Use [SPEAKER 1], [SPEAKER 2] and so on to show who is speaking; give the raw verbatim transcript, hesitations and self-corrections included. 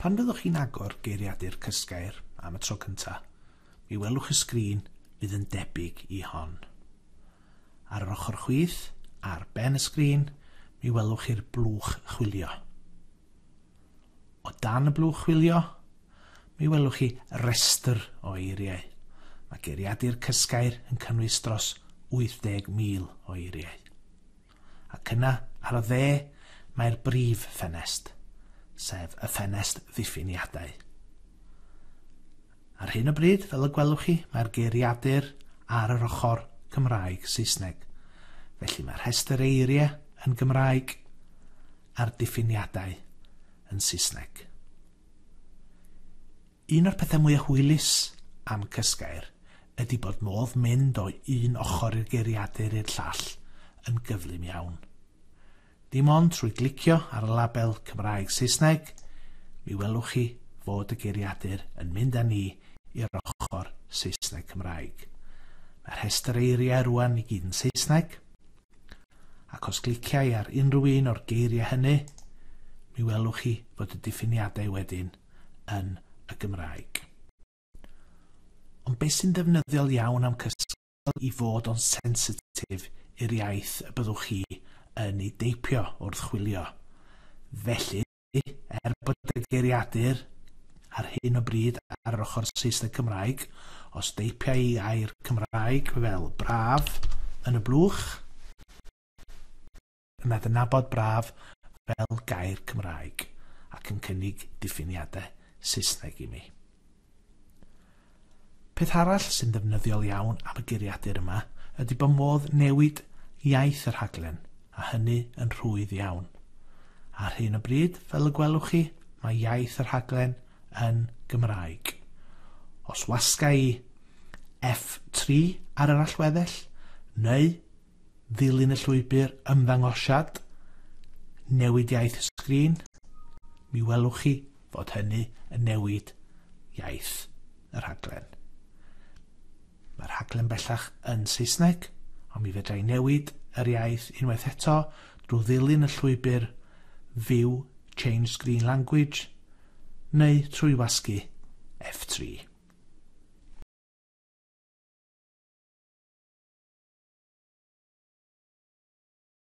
[SPEAKER 1] Pan fyddwch chi'n agor geiriadur Cysgeir am y tro cyntaf, mi welwch y sgrin fydd yn debyg i hon. Ar yr ochr chwith, ar ben y sgrin, mi welwch chi'r blwch chwilio. O dan y blwch chwilio, mi welwch chi restr o eiriau. Mae geiriadur Cysgeir yn cynnwys dros wyth deg mil o eiriau. Ac yna, ar y dde, mae'r brif ffenest, sef y ffenest ddiffiniadau. Ar hyn o bryd, fel y gwelwch chi, mae'r geiriadur ar yr ochr Cymraeg Saesneg. Felly mae'r rhestr eiriau yn Gymraeg a'r diffiniadau yn Saesneg. Un o'r pethau mwyaf hwylus am Cysgeir ydy bod modd mynd o un ochr i'r geiriadur i'r llall yn gyflym iawn. Dim ond trwy glicio ar y label Cymraeg Saesneg, mi welwch chi fod y geiriadur yn mynd â ni i'r ochr Saesneg Cymraeg. Mae'r rhestr eiriau rwan i gyd yn Saesneg, ac os gliciau ar unrhyw un o'r geiriau hynny, mi welwch chi fod y diffiniadau wedyn yn y Gymraeg. Ond beth sy'n ddefnyddiol iawn am Cysgeir i fod o'n sensitif i'r iaith y byddwch chi yn ei deipio wrth chwilio. Felly, er bod y geiriadur ar hyn o bryd ar yr ochr Saesneg Cymraeg, os deipia i air Cymraeg fel braf yn y blwch, yna adnabod braf fel gair Cymraeg ac yn cynnig diffiniadau Saesneg i mi. Peth arall sy'n ddefnyddiol iawn am y geiriadur yma ydy bod modd newid iaith y rhaglen, a hynny yn rhwydd iawn. Ar hyn o bryd, fel y gwelwch chi, mae iaith y rhaglen yn Gymraeg. Os wasga i F tri ar yr allweddell, neu ddilyn y llwybr ymddangosiad, newid iaith y sgrin, mi welwch chi fod hynny yn newid iaith y rhaglen. Mae'r rhaglen bellach yn Saesneg, ond mi fedra i newid yr iaith unwaith eto drwy ddilyn y llwybr View Change Screen Language neu trwy wasgu F tri.